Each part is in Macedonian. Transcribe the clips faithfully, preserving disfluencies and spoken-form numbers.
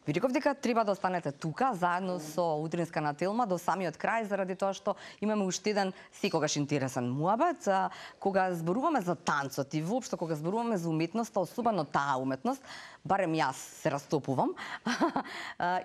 Ви реков дека треба да останете тука заедно со утринска на Телма до самиот крај, заради тоа што имаме уште еден секогаш интересен муабет, кога зборуваме за танцот и воопшто кога зборуваме за уметноста, особено таа уметност, барем јас се растопувам.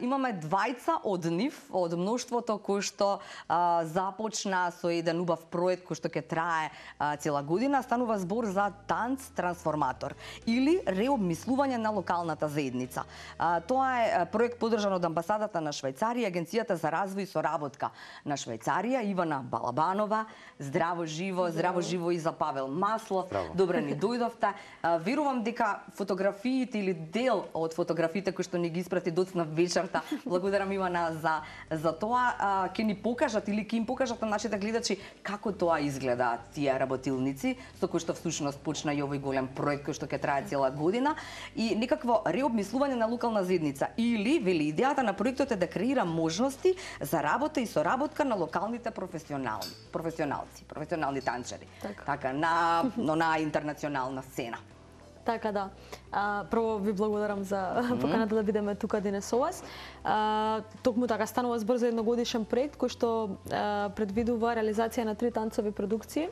Имаме двајца од нив, од мноштвото кои што а, започна со еден убав проект кој што ќе трае а, цела година, станува збор за танц трансформатор или реобмислување на локалната заедница. А, тоа е проект поддржан од амбасадата на Швајцарија, Агенцијата за развој и соработка на Швајцарија, Ивана Балабанова, здраво живо, здраво живо и за Павел Маслов. Здраво. Добре ни дојдовте. Верувам дека фотографиите или дел од фотографиите кои што ни ги испрати доцна вечерта, благодарам Ивана за за тоа, ќе ни покажат или ќе им покажат на нашите гледачи како тоа изгледа тие работилници со кои што всушност почна и овој голем проект кој што ќе трае цела година и некакво реобмислување на локална заедница. Или, вели, идејата на проектот е да креира можности за работа и соработка на локалните професионални, професионалци, професионални танчери. Така, така на, но на интернационална сцена. Така да. А, прво ви благодарам за поканата да бидеме тука денес со вас. А, токму така станува збор за едногодишен проект кој што а, предвидува реализација на три танцови продукции,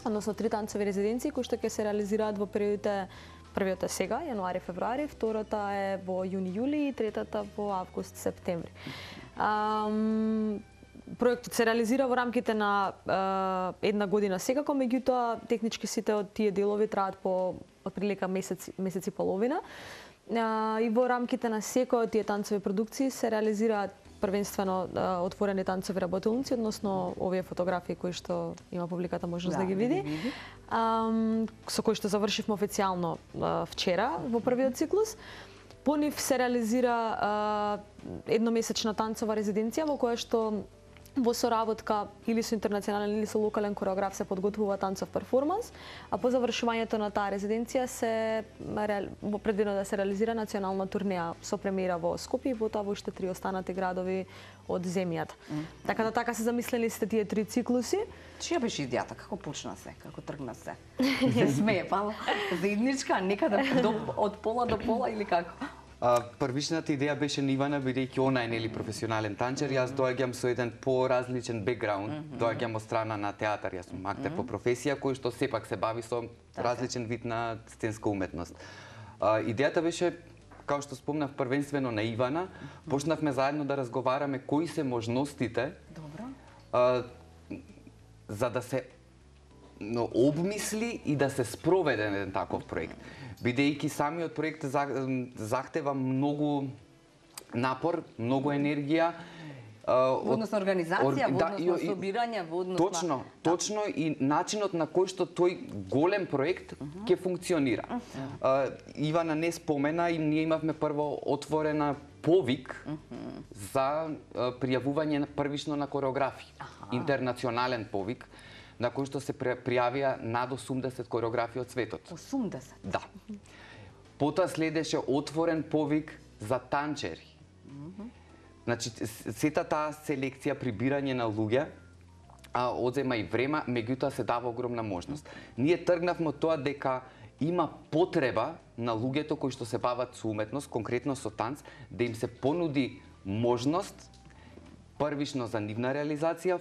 односно три танцови резиденции кои што ќе се реализираат во периодите. Првиот е сега, јануари-февруари, втората е во јуни-јули и третата во август-септември. Проектот се реализира во рамките на а, една година секако, меѓутоа технички сите од тие делови траат по отприлика месец, месец и половина. А, и во рамките на секој од тие танцови продукции се реализираат првенствено а, отворени танцови работилници, односно овие фотографии кои што има публиката можност да, да ги види, а, со кои што завршивме официјално а, вчера во првиот циклус. По нив се реализира а, едномесечна танцова резиденција во која што во соработка или со интернационален или со локален кореограф се подготвува танцов перформанс, а по завршувањето на таа резиденција се предвидено да се реализира национална турнеја со премиера во Скопје и потоа во уште три останати градови од земјата. Mm. Така да така се замислени сте тие три циклуси. Чија беше идејата? Како почна се? Како тргна се? Се смее, па заедничка, некаде до, од пола до пола или како? Uh, првичната идеја беше на Ивана, бидејќи она е нели професионален танчер, јас доаѓам со еден поразличен бекграунд, mm -hmm. доаѓам од страна на театар, јас сум актер mm -hmm. по професија кој што сепак се бави со различен вид на сценска уметност. Uh, идејата беше, као што спомнав, првенствено на Ивана, почнавме заедно да разговараме кои се можностите uh, за да се но обмисли и да се спроведе еден таков проект. Бидејќи самиот проект захтева многу напор, многу енергија. Во однос на организација, во однос на собирање, во однос на... Точно, точно и начинот на кој што тој голем проект ќе функционира. Ивана не спомена и ние имавме прво отворена повик за пријавување првично на кореографи. Интернационален повик, на кој што се пријавија над осумдесет кореографи од светот. осумдесет? Да. Потоа следеше отворен повик за танчери. Значи, сета таа селекција, прибирање на луѓе, а, одзема и време, меѓутоа се дава огромна можност. Ние тргнавме од тоа дека има потреба на луѓето кои што се бават со уметност, конкретно со танц, да им се понуди можност првично за нивна реализација,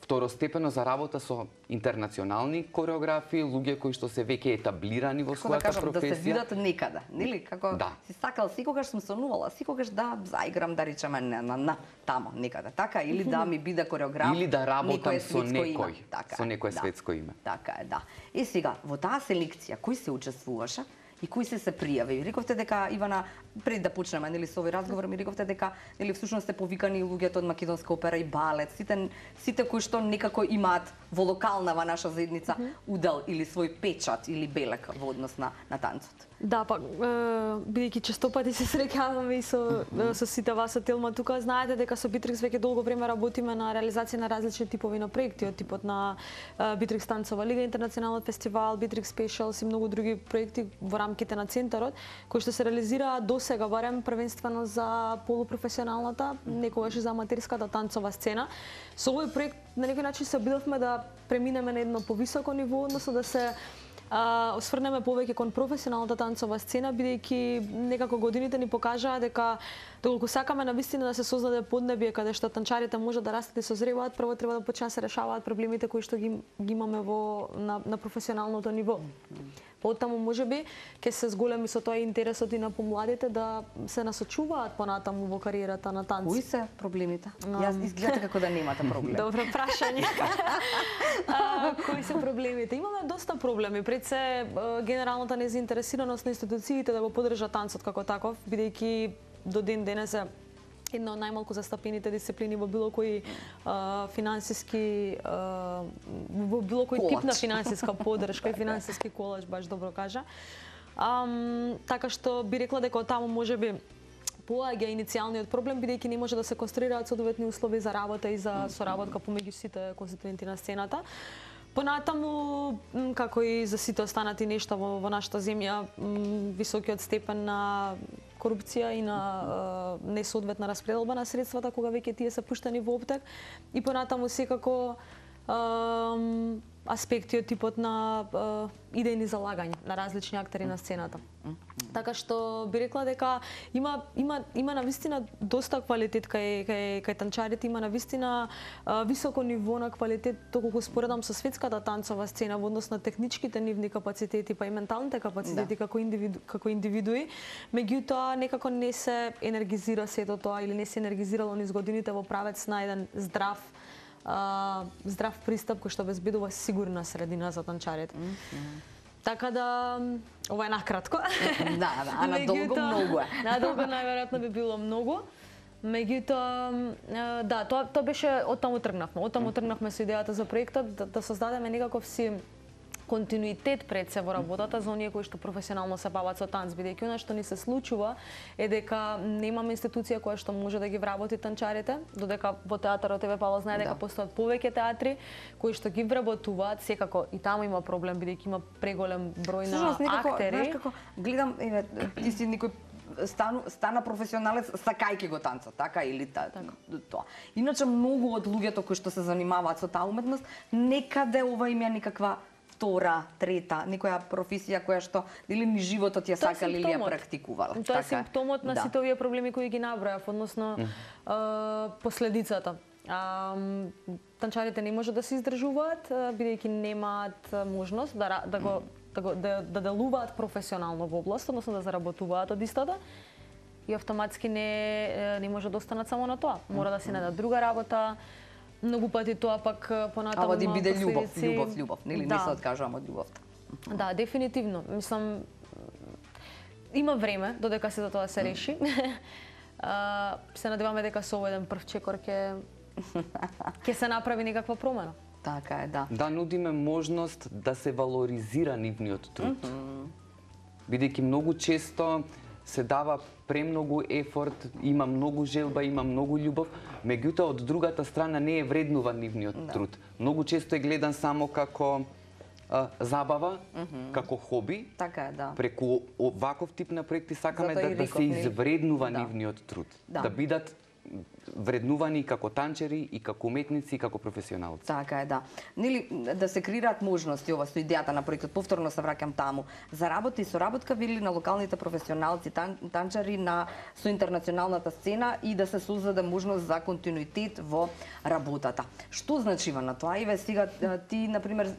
второстепено за работа со интернационални кореографи, луѓе кои што се веќе етаблирани во својата да кажам, професија. Да се видат некаде, нели? Како да. Си сакал, секогаш сум сонувала, секогаш да заиграм, да речеме, на, на, на тамо, некаде, така? Или да ми биде кореограф, или да работам со некој, така, со некој да. светско име. Така е, да. И сега, во таа селекција, кој се учествуваше? И кои се се пријави? Рековте дека, Ивана, пред да почнеме нели со овој разговор, ми рековте дека нели всушност сте повикани луѓето од македонска опера и балет, сите сите кои што некако имаат во локалнава наша заедница mm -hmm. удел или свој печат или белек во однос на на танцот. Да, па бидејќи често пати се среќаваме и со со сите вас од Телма тука, знаете дека со Битрикс веќе долго време работиме на реализација на различни типови на проекти, од типот на Битрикс танцова лига, интернационален фестивал, Битрикс Specials и многу други проекти во рамките на центарот, кои што се реализира до сега барем првенствено за полупрофесионалната, некогаш и за аматерската танцова сцена. Со овој проект на некој начин се обидовме да преминеме на едно повисоко ниво, односно да се а, осврнеме повеќе кон професионалната танцова сцена, бидејќи некако годините ни покажаа дека доколку сакаме навистина да се создаде поднебие каде што танчарите може да растат и созреваат, прво треба да почнат да се решаваат проблемите кои што ги, ги имаме во на, на професионалното ниво. Потаму можеби ќе се зголеми со тоа интересот и на помладите да се насочуваат понатаму во кариерата на танци. Кои се проблемите? Јас изгледа како да немате проблем. Добро прашање. а, кои се проблемите? Имаме доста проблеми. Пред се генералната незаинтересираност на институциите да го поддржат танцот како таков, бидејќи до ден денес е една од најмалку застапените дисциплини во било кој а, финансиски а, во било кој тип на финансиска поддршка и финансиски колач, баш добро кажа. А, така што би рекла дека од таму можеби поаѓа иницијалниот проблем, бидејќи не може да се конструираат соодветни услови за работа и за соработка помеѓу сите конституенти на сцената. Понатаму, како и за сите останати нешта во, во нашата земја, високиот степен на корупција и на е, несоодветна распределба на средствата кога веќе тие се пуштани во оптек, и понатаму секако е, аспекти од типот на е, идејни залагања на различни актери на сцената. Така што би рекла дека има има има навистина доста квалитет кај кај кај танчарите, има навистина високо ниво на квалитет доколку споредам со светската танцова сцена во однос на техничките нивни капацитети, па и менталните капацитети, да, како индивиду, како индивидуи, меѓутоа некако не се енергизира сето тоа или не се енергизирало низ годините во правец на еден здрав Uh, здрав пристап кој што обезбедува сигурна средина за танчарите. Mm -hmm. Така да, ова е накратко. Да, да, а на долго многу е. На долго најверојатно би било многу. Меѓутоа, да, тоа тоа беше од таму тргнавме. Од таму тргнавме со идејата за проектот да, да создадеме некаков си континуитет пред се во работата за оние кои што професионално се бават со танц, бидејќи она што ни се случува е дека немаме институција која што може да ги вработи танчарите, додека во театарот Еве Павло знае дека да. Постојат повеќе театри кои што ги вработуваат, секако и таму има проблем бидејќи има преголем број на Сушност, некако, актери. Знаеш како гледам, еве, ти си некој стану, стана професионалец сакајќи го танцот, така или та, така. Тоа. Иначе многу од луѓето кои што се занимаваат со таа уметност, некаде ова им е некаква втора, трета, некоја професија која што или ни животот ја сакал или ја практикувал. Тоа е така, симптомот на да. Сите овие проблеми кои ги набројав, односно mm. е, последицата. А, танчарите не може да се издржуваат бидејќи немаат можност да да го да го да, да делуваат професионално во област, односно да заработуваат од истата. И автоматски не не може да останат само на тоа. Мора да се најдат друга работа. Многу пати тоа пак понатаму има последици. Ава да биде љубов, љубов, љубов, нели да. Не се откажувам од љубовта. Да, дефинитивно. Мислам, има време додека се за тоа се реши. а, се надеваме дека со овој еден прв чекор ќе ќе се направи некаква промена. Така е, да. Да нудиме можност да се валоризира нивниот труд. Mm -hmm. Бидејќи многу често се дава премногу ефорт, има многу желба, има многу љубов, меѓутоа од другата страна не е вреднуван нивниот no. труд. Многу често е гледан само како а, забава, mm -hmm. како хоби. Така е, да. Преку оваков тип на проекти сакаме да, да се извреднува да. нивниот труд, да, да бидат вреднувани како танчери и како уметници и како професионалци. Така е, да. Нели да се креираат можности, ова со идејата на проектот, повторно се враќам таму, за работа и соработка вели на локалните професионалци, тан, танчари на со интернационалната сцена и да се создаде можност за континуитет во работата. Што значива на тоа? Иве сега ти на пример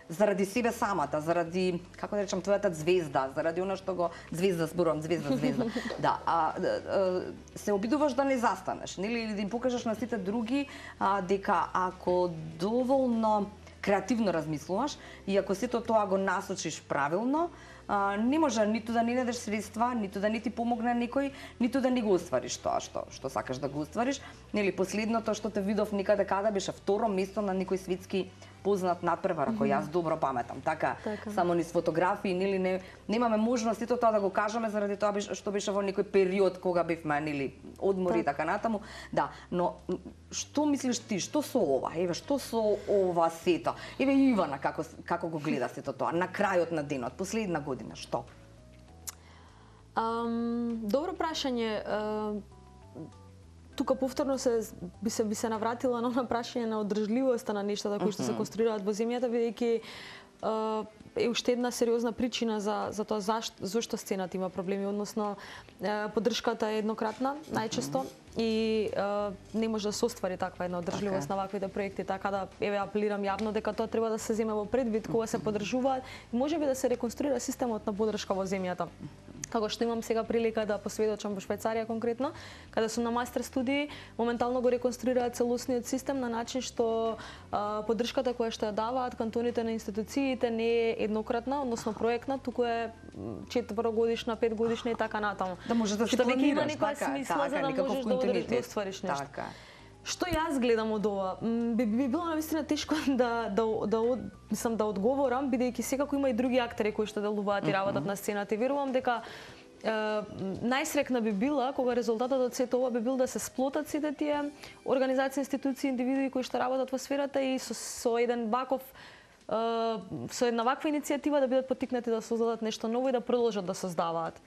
заради себе самата, заради, како да речам, твојата звезда, заради она што го звезда зборувам, звезда, звезда. Да, а, а се обидуваш да не застанеш, нели, или да им покажеш на сите други а, дека ако доволно креативно размислуваш и ако сето тоа го насочиш правилно, а, не може ниту да не најдеш средства, ниту да не ти помогне некој, ниту да не го оствариш тоа што што сакаш да го оствариш. Нели, последното што те видов некаде каде беше второ место на некој светски познат надпревар, ако јас добро паметам. Така, така. Само низ фотографии, нели не немаме можност сето тоа да го кажеме заради тоа што беше во некој период кога бевме нели одмори и така натаму. Да, но што мислиш ти, што со ова? Еве, што со ова сето? Еве Ивана како како го гледа сето тоа на крајот на денот, последна година, што? Um, добро прашање. Uh... Тука повторно се би се би се навратила на она прашање на одржливоста на нештата кои што се конструираат во земјата, бидејќи е уште една сериозна причина за за тоа зашто зошто сцената има проблеми, односно поддршката е еднократна најчесто и е, не може да се оствари таква една одржливост okay. на ваквите проекти, така да еве апелирам јавно дека тоа треба да се земе во предвид кога се поддржуваат и можеби да се реконструира системот на поддршка во земјата. Како што имам сега прилика да посведочам во Швајцарија конкретно, каде сум на мастер студии, моментално го реконструираат целосниот систем на начин што а, поддршката која што ја даваат кантоните на институциите не е еднократна, односно проектна, туку е четврогодишна, петгодишна и така натаму. Да можеш да си што веќе има планираш, некоја така, смисла така, за да можеш да одржиш да оствариш нешто. Така. Што јас гледам од ова? Би, би било навистина тешко да да да мислам да одговорам, бидејќи секако има и други актери кои што делуваат и работат на сцената и верувам дека е, најсрекна би била кога резултатот од сето ова би бил да се сплотат сите тие организации, институции, индивидуи кои што работат во сферата и со, со еден ваков со една ваква иницијатива да бидат поттикнати да создадат нешто ново и да продолжат да создаваат.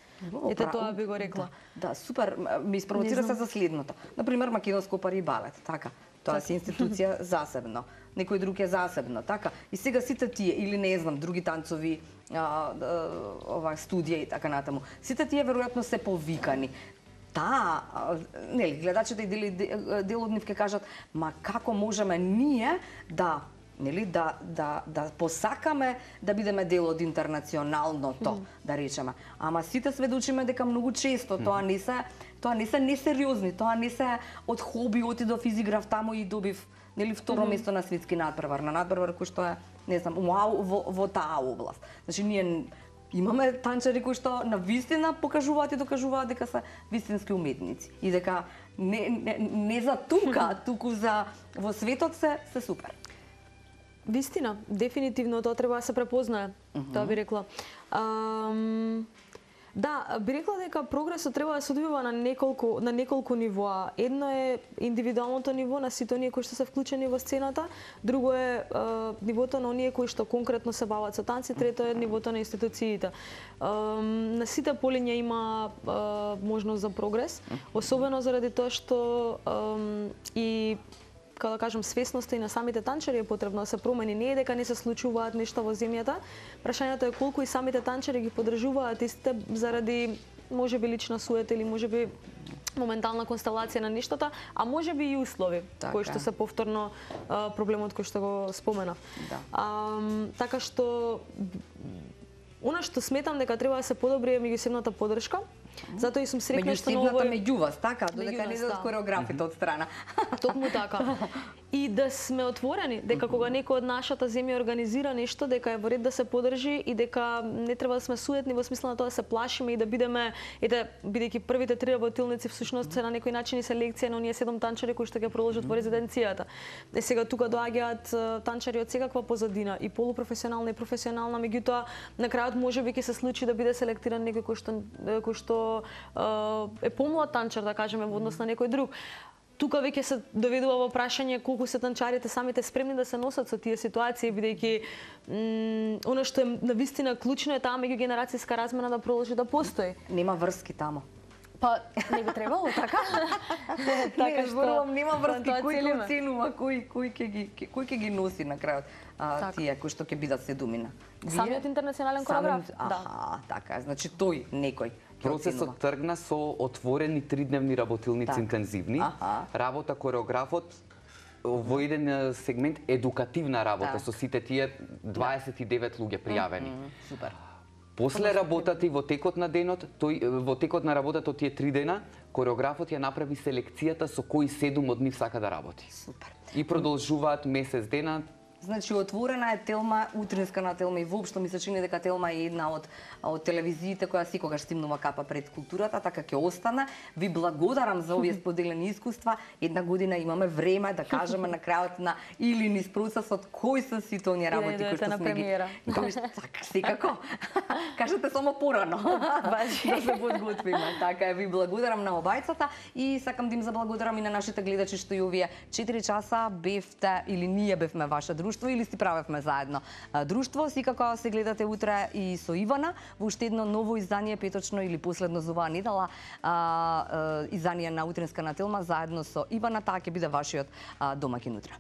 Ете тоа би го рекла. Да, да, супер. Ми испровоцира се за следното. Например, Македонско опера и балет, така. Тоа си институција засебно. Некој друг е засебно, така. И сега сите тие или не знам, други танцови, а, ова студија и така натаму. Сите тие веројатно се повикани. Таа, нели, гледачите и дел, дел од нив ќе кажат, ма како можеме ние да нели да да да посакаме да бидеме дел од интернационалното, mm. да речеме. Ама сите сведочиме дека многу често mm. тоа не се тоа не се несериозни, тоа не се од хоби отидов изиграв таму и добив нели второ mm. место на светски надпревар, на надпревар кој што е, не знам, вау во, во таа област. Значи ние имаме танчари кои што на вистина покажуваат и докажуваат дека се вистински уметници и дека не не, не за тука, туку за во светот се се супер. Вистина, дефинитивно тоа треба да се препознае, uh -huh. тоа би рекла. Ам, да, би рекла дека прогресот треба да се одвива на неколку на неколку нивоа. Едно е индивидуалното ниво на сите оние кои што се вклучени во сцената, друго е а, нивото на оние кои што конкретно се бават со танци, трето е нивото на институциите. Ам, на сите полиња има а, можност за прогрес, особено заради тоа што ам, и како да кажам, свесноста и на самите танчари е потребно да се промени. Не е дека не се случуваат нешта во земјата. Прашањето е колку и самите танчари ги поддржуваат истите заради можеби лична суета или можеби моментална констелација на нештата, а можеби и услови, така, кои што се повторно а, проблемот кој што го споменав. Да. А, така што она што сметам дека треба да се подобри е меѓусебната поддршка. Затоа и сум срекна што на овој меѓу вас, така, додека не идат хореографите од страна. Токму така. И да сме отворени дека кога некој од нашата земја организира нешто, дека е во ред да се поддржи и дека не треба да сме суетни во смисла на тоа да се плашиме и да бидеме, ете, бидејќи првите три работилници всушност се на некој начин и селекција на оние седум танчари кои што ќе продолжат во резиденцијата. Е сега тука доаѓаат танчари од секаква позадина, и полупрофесионална и професионална, меѓутоа на крајот можеби ќе се случи да биде селектиран некој кој што кој што е помлад танчар, да кажеме, во однос на некој друг. Тука веќе се доведува во прашање колку се танчарите самите спремни да се носат со тие ситуации, бидејќи она што е навистина клучно е таа меѓугенерацијска размена да продолжи да постои. Нема врски таму. Па не би требало, така? Така што зборувам, нема врски, кој ќе оценува, кој кој ќе ги кој ќе ги носи на крајот а, тие кои што ќе бидат седумина. Самиот интернационален коreograf? Да. Така, значи тој некој. Процесот тргна со отворени тридневни работилници так. интензивни. Аха. Работа кореографот во еден сегмент едукативна работа так. со сите тие дваесет и девет луѓе пријавени. Mm -hmm. Супер. После работата и во текот на денот, тој во текот на работата тие три дена, кореографот ја направи селекцијата со кои седум од нив сака да работи. Супер. И продолжуваат месец дена. Значи отворена е Телма, утринска на Телма, и воопшто ми се чини дека Телма е една од од телевизиите која секогаш стимнува капа пред културата, така ќе остане. Ви благодарам за овие споделени искуства. Една година имаме време да кажеме на крајот на или низ процесот кои се сите оние работи кои што сме ги. Кои што така секако. Кажете само порано. Баш да се подготвиме. Така е, ви благодарам на обајцата и сакам да им заблагодарам и на нашите гледачи што и овие четири часа бевте или ние бевме ваша друштво или си правевме заедно друштво. Секако се гледате утре и со Ивана во уште едно ново издание, петочно или последно за оваа недела, а, а, издание на Утринска на Телма заедно со Ивана. Таа ќе биде вашиот а, домаќин утре.